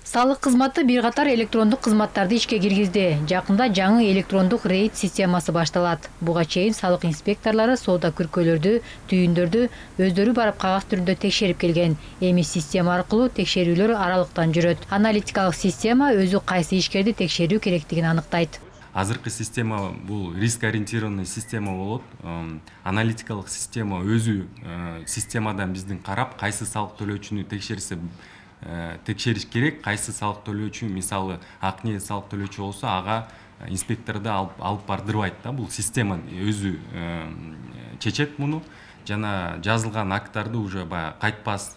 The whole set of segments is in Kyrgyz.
Салык кызматы бир катар электрондук кызматтарды ишке киргизди. Жакында жаңы электрондук рейд системасы башталат. Буга чейин салык инспекторлору соода күркөлөрдү, түйүндөрдү өздөрү барып кагаз түрүндө текшерип келген. Эми система аркылуу текшерүүлөр аралыктан жүрөт. Аналитикалык система өзү кайсы ишкерди текшерүү керектигин аныктайт. Азыркы система бул риск ориентированный система болот. Аналитикалык система өзү системадан биздин карап, кайсы салык төлөөчүнү текшериш керек, кайсы салык төлөөчү, мисалы ак ниет салык төлөөчү болсо, ага инспекторду алып бардырбайт да. Бул система өзү чечет муну. Жана жазылган акттарды уже баягы кайтпас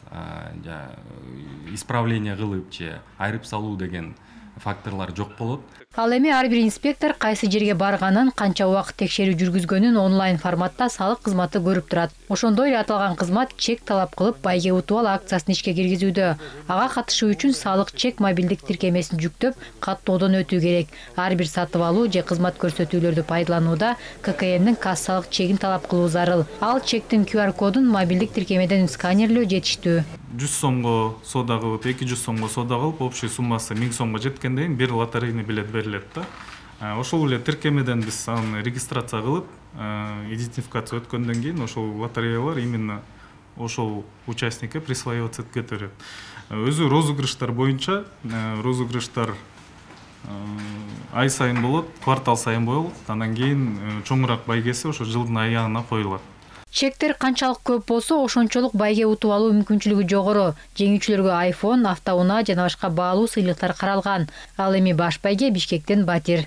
исправление кылып же айырып салуу деген факторлор жок болот. Ал эми ар бир инспектор кайсы жерге барганын, канча убакыт текшерүү жүргүзгөнүн онлайн форматта салык кызматы көрүп турат. Ошондой эле аталган кызмат чек талап кылып байге утуп ал акциясын ишке киргизүүдө. Ага катышуу үчүн салык чек мобилдик тиркемесин жүктөп, каттоодон өтүү керек. Ар бир сатып алуу же кызмат көрсөтүүлөрдү пайдаланууда ККМдин кассалык чегин талап кылуу зарыл. Ал чектин QR кодун мобилдик тиркемеден сканерлөө жетиштүү. 100 сомго соода кылып, 200 сомго соода кылып, общий суммасы 1000 сомго жеткенден кийин бир лотерейный билет берилет да. Ошол эле тиркемеден биз аны регистрация кылып, идентификация өткөндөн кийин ошол лотереялар именно ошол участникке присваиваться этип кетет. Өзү розыгрыштар боюнча, розыгрыштар ай сайын болот, квартал сайын болот. Андан кийин чоңураак байгеси ошо жылдын аягына коюлат. Чектер канчалык көп болсо, ошончолук байге утуп алуу мүмкүнчүлүгү жогору. Жеңүүчүлөргө iPhone, автоунаа жана башка баалуу сыйлыктар каралган. Ал эми баш байге Бишкектен батир.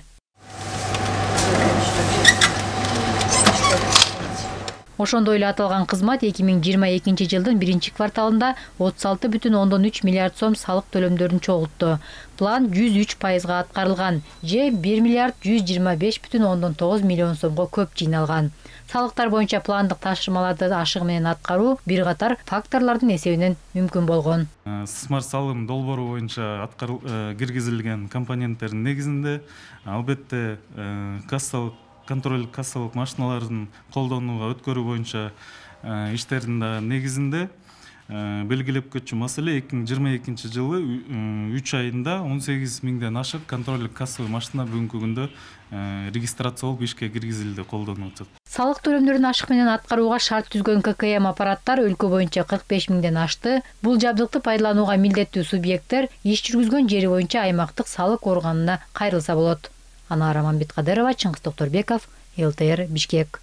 Ошондой эле аталган кызмат 2022 жылдын 1-кварталында 36,3 миллиард сом салык төлөмдөрүн чогултту. План 103% аткарылган же 1 миллиард 125,9 миллион сомго көп жыйналган. Салыктар боюнча пландык тапшырмаларды ашыгы менен аткаруу бир катар факторлордун эсебинен мүмкүн болгон. Смарт салым долбоору боюнча киргизилген компоненттердин негизинде албетте контроль кассалык машиналардын колдонууга өткөрүү боюнча иштердин да негизинде белгилеп көтчү маселе 2022 жылы 3 айында 18 миңден ашык контролдук кассалык машина бүгүнкү күндө регистрация болуп ишке киргизилди, колдонулат. Салык төлөмдөрүн ашык менен аткарууга шарт түзгөн ККМ аппараттар өлкө боюнча 45 миңден ашты. Бул жабдыкты пайдаланууга милдеттүү субъекттер иш жүргүзгөн жери боюнча аймактык салык органына кайрылса болот. Анара Мамбеткадырова, Чыңгыз Токторбеков, ЛТР, Бишкек.